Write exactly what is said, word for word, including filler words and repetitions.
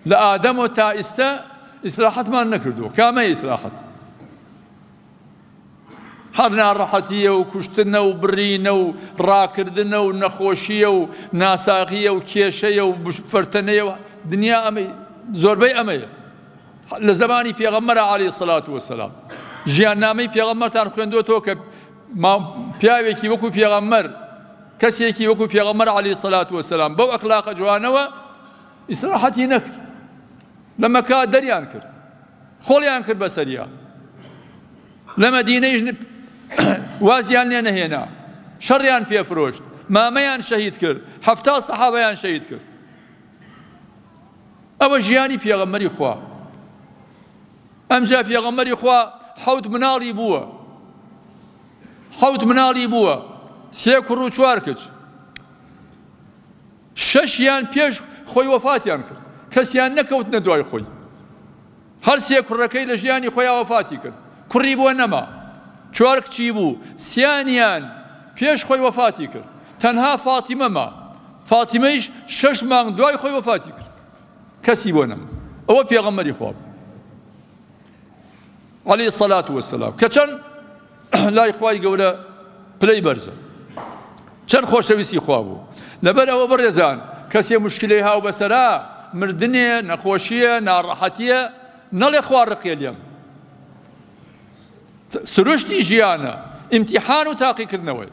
لە ئادەمەوە تا ئیستا ئیسراحەتمان نەکردووە. کامەیە ئیسراحەت؟ هەر ناڕەحەتیە و کوشتنە و بڕینە و ڕاکردنە و نەخۆشیە و ناساغیە و کێشەیە و فەرتەنەیە و دنیا ئەمەی زۆربەی ئەمەیە. لە زەمانی پێغەمبەرە عەلەیهی سەلات وەسەلام ژیاننامەی پێغەمبەرتان خوێندووەتەوە کە پیاوێکی وەکو پێغەمبەر، کەسێکی وەکو پێغەمبەر عەلەیهی سەلات وەسەلام بەو ئەخلاقە جوانەوە ئیسراحەتی نەکرد، لە مەکە دەریان کرد، خۆڵیان کرد بەسەریا، لە مەدینەیش وازیان لێ نەهێنا، شەڕیان پێفرۆشت، مامەیان شەهید کرد، حەفتا سەحابەیان شەهید کرد. ئەوە ژیانی پێغەمبەری خوا. ئەمجا پێغەمبەری خوا حەوت مناڵی بووە، حەوت مناڵی بووە، سێ کوڕ و چوار کچ، شەشیان پێش خۆی وەفاتیان کرد، کەسیان نەکەوتنە دوای خۆی. هەر سێ کوڕەکەی لە ژیانی خۆیان وەفاتی کرد، کوڕی بووە نەما، چوار کچی بوو، سیانیان پێش خۆی وەفاتی کرد، تەنها فاتیمە ما، فاتیمەیش شەش مانگ دوای خۆی وەفاتی کرد، کەسی بۆ نەما. ئەوە پێغەمبەری خوا بوو عەلەیهی سەلات وەسەلام، کە چەند لای خوای گەورە پلەی بەرزە، چەند خۆشەویستی خوا بوو. لەبەر ئەوە بەڕێزان کەسێ مشکلەی هاو بەسەرا، مردنێ، نەخۆشیە، ناڕەحەتیە، نەڵێ خوا ڕقێ لێم. سروشتی ژیانە، ئیمتیحان و تاقیکردنەوەی.